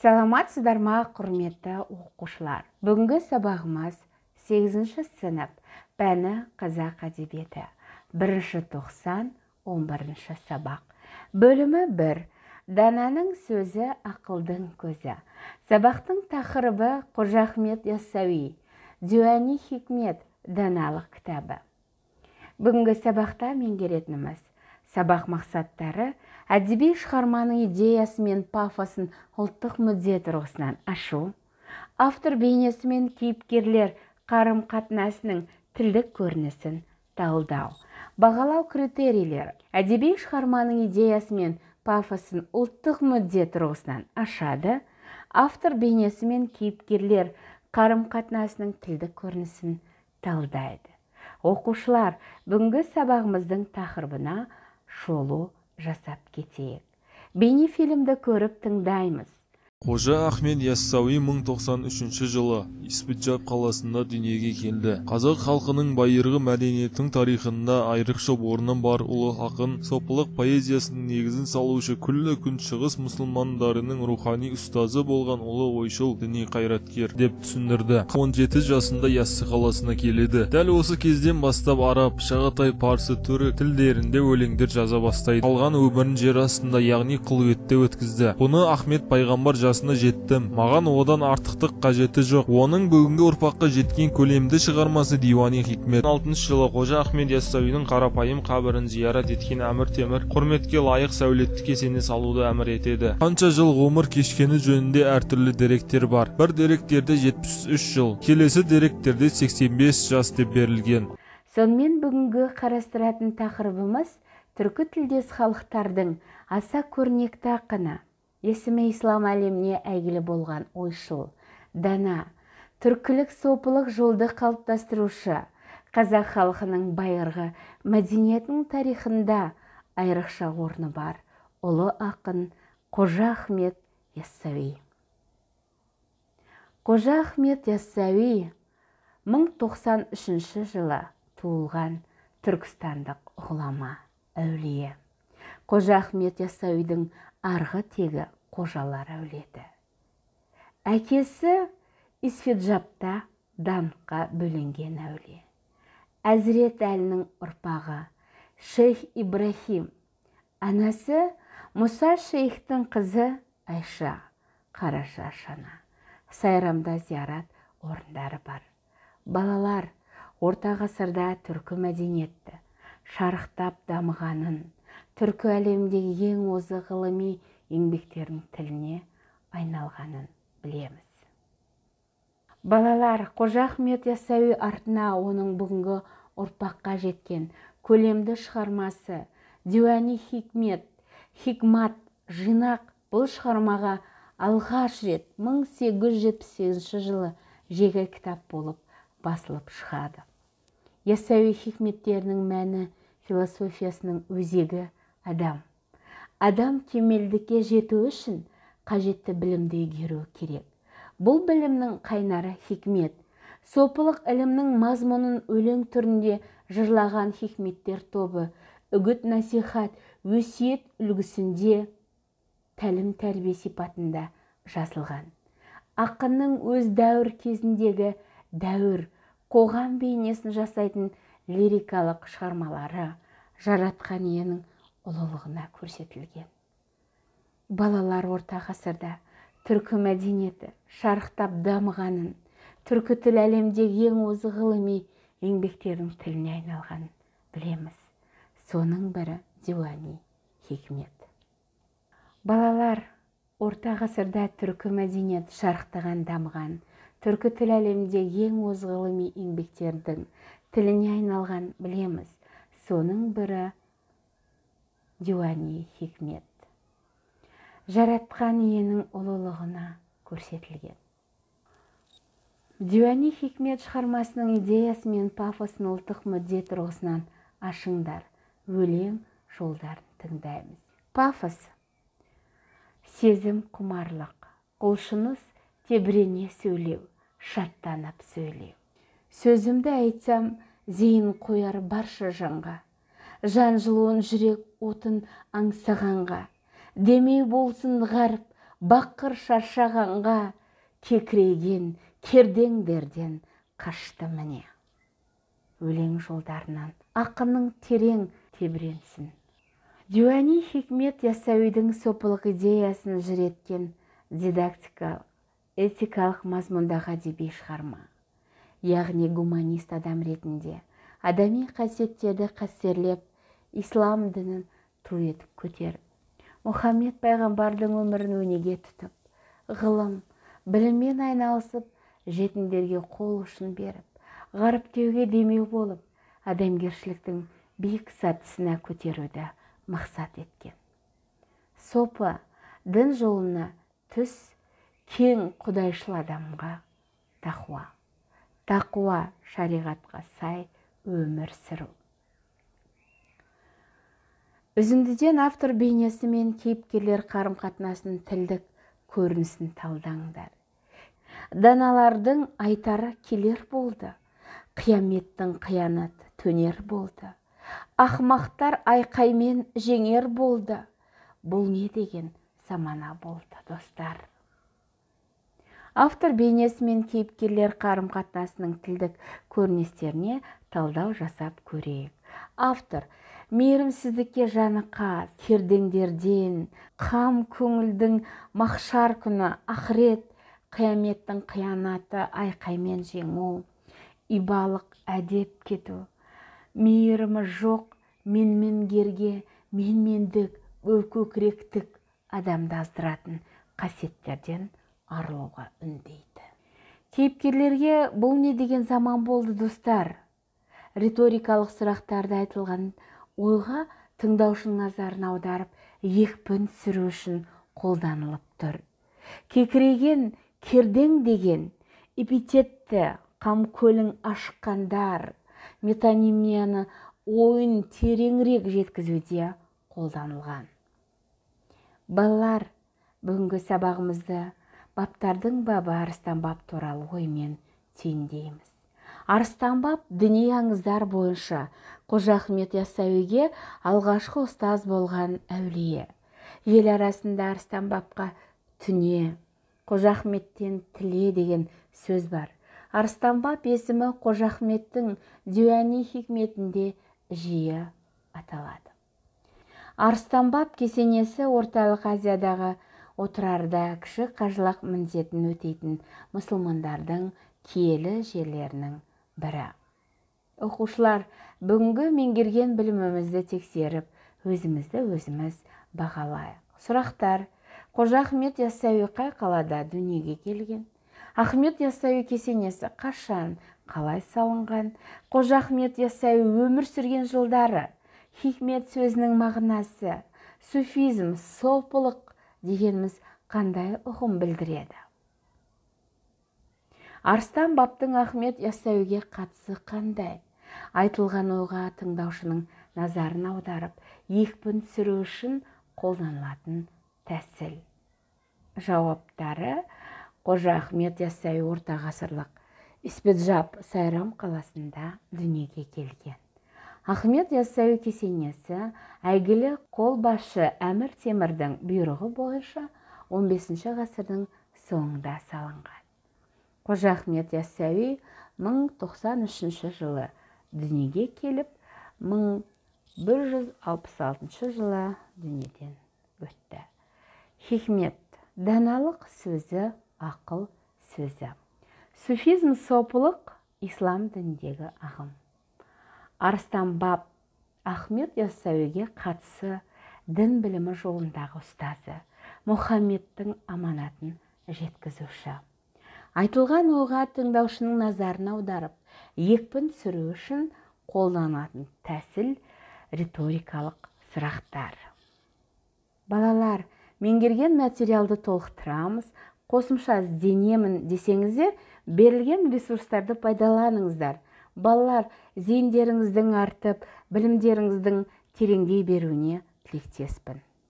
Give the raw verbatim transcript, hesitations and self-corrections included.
Саламатсыздар ма, құрметті оқушылар. Бүгінгі сабағымыз сегізінші сынып пәні қазақ әдебиеті. Бірінші тоқсан, он бірінші сабақ. Бөлімі бір. Дананың сөзі ақылдың көзі. Сабақтың тақырыбы Қожа Ахмет Яссауи, Диуани Хикмет даналық кітабы. Бүгінгі сабақта меңгеретініміз сабақ мақсаттары әдеби шығарманың идеясы мен пафосын ұлттық мүдде тұрғысынан ашу, автор бейнесі мен кейіпкерлер қарым-қатынасының тілдік көрінісін талдау, бағалау критерийлері, әдеби шығарманың идеясы мен пафосын ұлттық мүдде тұрғысынан ашады, автор бейнесі мен кейіпкерлер қарым-қатынасының тілдік көрінісін талдайды. Оқушылар, бүгінгі сабағымыздың тақырыбына шолу жасап кетейік. Бейнефильмді көріп тыңдаймыз. Қожа Ахмет Яссауи мың тоқсан үшінші жылы Испиджаб қаласында дүниеге келді. Қазақ халқының байырғы мәдениеттің тарихында айрықша орны бар ұлы ақын, сопылық поэзиясының негізін салушы, күллі күн шығыс мұсылмандарының рухани ұстазы болған ұлы ойшыл діни қайраткер деп түсіндірді. он жеті жасында Яссы қаласына келеді. Дәл осы кезден бастап араб, шағатай, парсы, түрік тілдерінде өлеңдер жаза бастайды. Қалған өмірін жер астында, яғни құлветте өткізді. Бұны Ахмет пайғамбар жасына жеттім, маған одан артықтық қажеті жоқ. Оның бүгінгі ұрпаққа жеткен көлемді шығармасы Диуани Хикмет. алтыншы жылы Қожа Ахмет Яссауидің қарапайым қабірін зиярат еткен Әмір Темір құрметке лайық сәулетті кесене салуды әмір етеді. Қанша жыл ғұмыр кешкені жөнінде әртүрлі деректер бар. Бір деректерде жетпіс үш жыл, келесі деректерде сексен бес жас деп берілген. Сонымен бүгінгі қарастыратын тақырыбымыз түркі тілдес халықтардың аса көрнекті ақыны, есімі ислам әлеміне әйгілі болған ойшыл, дана, түркілік сопылық жолды қалыптастырушы, қазақ халқының байырғы мәдениетінің тарихында айрықша орны бар ұлы ақын Қожа Ахмет Яссауи. Қожа Ахмет Яссауи мың тоқсан үшінші жылы туылған түркістандық ғұлама, әулие. Қожа Ахмет Яссауидің арғы тегі қожалар әулеті. Әкесі Испиджабта даңққа бөленген әулие. Әзірет әлінің ұрпағы Шейх Ибрахим, анасы Мұса шейхтің қызы Айша, Қараша Шана. Сайрамда зиярат орындары бар. Балалар, орта ғасырда түркі мәдениетті шарықтап дамығанын, түркі әлемдегі ең озық ғылыми еңбектердің тіліне айналғанын білеміз. Балалар, Қожа Ахмет Яссауи артына оның бүгінгі ұрпаққа жеткен көлемді шығармасы Диуани Хикмет, Хикмат, жинақ бұл шығармаға алғаш рет мың сегіз жүз жетпіс сегізінші жылы жеке кітап болып басылып шығады. Яссауи хикметтерінің мәні философиясының өзегі адам. Адам кемелдікке жету үшін қажетті білімді игеру керек. Бұл білімнің қайнары хикмет. Сопылық ілімнің мазмұнын өлең түрінде жырлаған хикметтер тобы үгіт насихат, өсиет үлгісінде тәлім тәрбие сипатында жазылған. Ақынның өз дәуір кезіндегі дәуір, қоғам бейнесін жасайтын лирикалық шығармалары жаратқан иенің ұлылығына көрсетілген. Балалар, орта ғасырда түркі мәдениеті шарықтап дамығанын, түркі тіл әлемдегі ең озық ғылыми еңбектердің тіліне айналғанын білеміз. Соның бірі Диуани Хикмет. Балалар, орта ғасырда түркі мәдениет шарықтаған дамыған, түркі тіл әлемдегі ең озық ғылыми еңбектердің тіліне айналған білеміз. Соның бірі Диуани Хикмет. Жаратқан иенің ұлылығына көрсетілген. Диуани Хикмет шығармасының идеясы мен пафосын ұлттық мүдде тұрғысынан ашыңдар. Өлең жолдарын тыңдаймыз. Пафос — сезім құмарлық, құлшыныс тебірене сөйлеу, шаттанып сөйлеу. Сөзімді айтсам, зейін қояр барша жанға, жан жылуын жүрек отын аңсағанға, демей болсын ғарып бақыр шаршағанға кекірейген кердеңдерден қашты міне. Өлең жолдарынан ақынның терең тебіренсін. Диуани Хикмет Яссауидің сопылық идеясын жүреткен дидактикалық, этикалық мазмұндағы әдеби шығарма. Яғни гуманист адам ретінде адами қасиеттерді қастерлеп, ислам дінін ту етіп көтеріп, Мұхаммед пайғамбардың өмірін өнеге тұтып, ғылым, біліммен айналысып, жетімдерге қол ұшын беріп, ғаріптеуге демеу болып, адамгершіліктің биік сатысына көтеруді мақсат еткен. Сопы дін жолына түс, кең құдайшыл адамға тақуа. Тақуа шариғатқа сай өмір сүру. Үзіндіден автор бейнесі мен кейіпкерлер қарым-қатынасының тілдік көрінісін талдаңдар. Даналардың айтары келер болды, қияметтің қиянаты төнер болды. Ақмақтар айқаймен жеңер болды. Бұл не деген замана болды, достар. Автор бейнесі мен кейіпкерлер қарым-қатынасының тілдік көріністеріне талдау жасап көрейік. Автор мейірімсіздікке жаны қас, кердеңдерден, қам көңілдің махшар күні, ақырет, қияметтің қиянаты айқаймен жеңу, ибалық әдеп кету, мейірімі жоқ, менмендерге менмендік, көкіректік адамды аздыратын қасиеттерден арылуға үндейді. Кейіпкерлерге бұл не деген заман болды, достар? Риторикалық сұрақтарды айтылған ойға тыңдаушының назарын аударып, екпін сүру үшін қолданылып тұр. Кекірейген кердең деген эпитетті қамкөлің ашқандар метонимияны ойын тереңірек жеткізуде қолданылған. Балалар, бүгінгі сабағымызды баптардың бабы Арыстан баб туралы оймен түйіндейміз. Арыстан баб діни аңыздар бойынша Қожа Ахмет Яссауиге алғашқы ұстаз болған әулие. Ел арасында Арыстан бабқа түне, Қожа Ахметтен тіле деген сөз бар. Арыстан баб есімі Қожа Ахметтің Диуани Хикметінде жиі аталады. Арыстан баб кесенесі орталық Азиядағы отырарда кіші қажылық міндетін өтейтін мұсылмандардың киелі жерлерінің бірі. Оқушылар, бүгінгі меңгерген білімімізді тексеріп, өзімізді өзіміз бағалайық. Сұрақтар: Қожа Ахмет Яссауи қай қалада дүниеге келген? Ахмет Яссауи кесенесі қашан, қалай салынған? Қожа Ахмет Яссауи өмір сүрген жылдары? Хикмет сөзінің мағынасы? Суфизм, сопылық дегеніміз қандай ұғым білдіреді? Арыстан бабтың Ахмет Яссауиге қатысы қандай? Айтылған ойға тыңдаушының назарын аударып, екпін сүру үшін қолданылатын тәсіл. Жауаптары: Қожа Ахмет Яссауи орта ғасырлық Испеджаб Сайрам қаласында дүниеге келген. Ахмет Яссауи кесенесі әйгілі қолбасшы Әмір Темірдің бұйрығы бойынша он бесінші ғасырдың соңында салынған. Қожа Ахмет Яссауи мың тоқсан үшінші жылы дүниеге келіп, мың бір жүз алпыс алтыншы жылы дүниеден өтті. Хикмет – даналық сөзі, ақыл сөзі. Суфизм – сопылық, ислам дініндегі ағым. Арыстан баб Ахмет Яссауиге қатысы дін білімі жолындағы ұстазы, Мұхаммедтің аманатын жеткізуші. Айтылған ойға тыңдаушының назарын аударып, екпін сүру үшін қолданатын тәсіл риторикалық сұрақтар. Балалар, меңгерген материалды толықтырамыз, қосымша ізденемін десеңіздер, берілген ресурстарды пайдаланыңыздар. Балалар, зейіндеріңіздің артып, білімдеріңіздің тереңдей беруіне тілектеспін.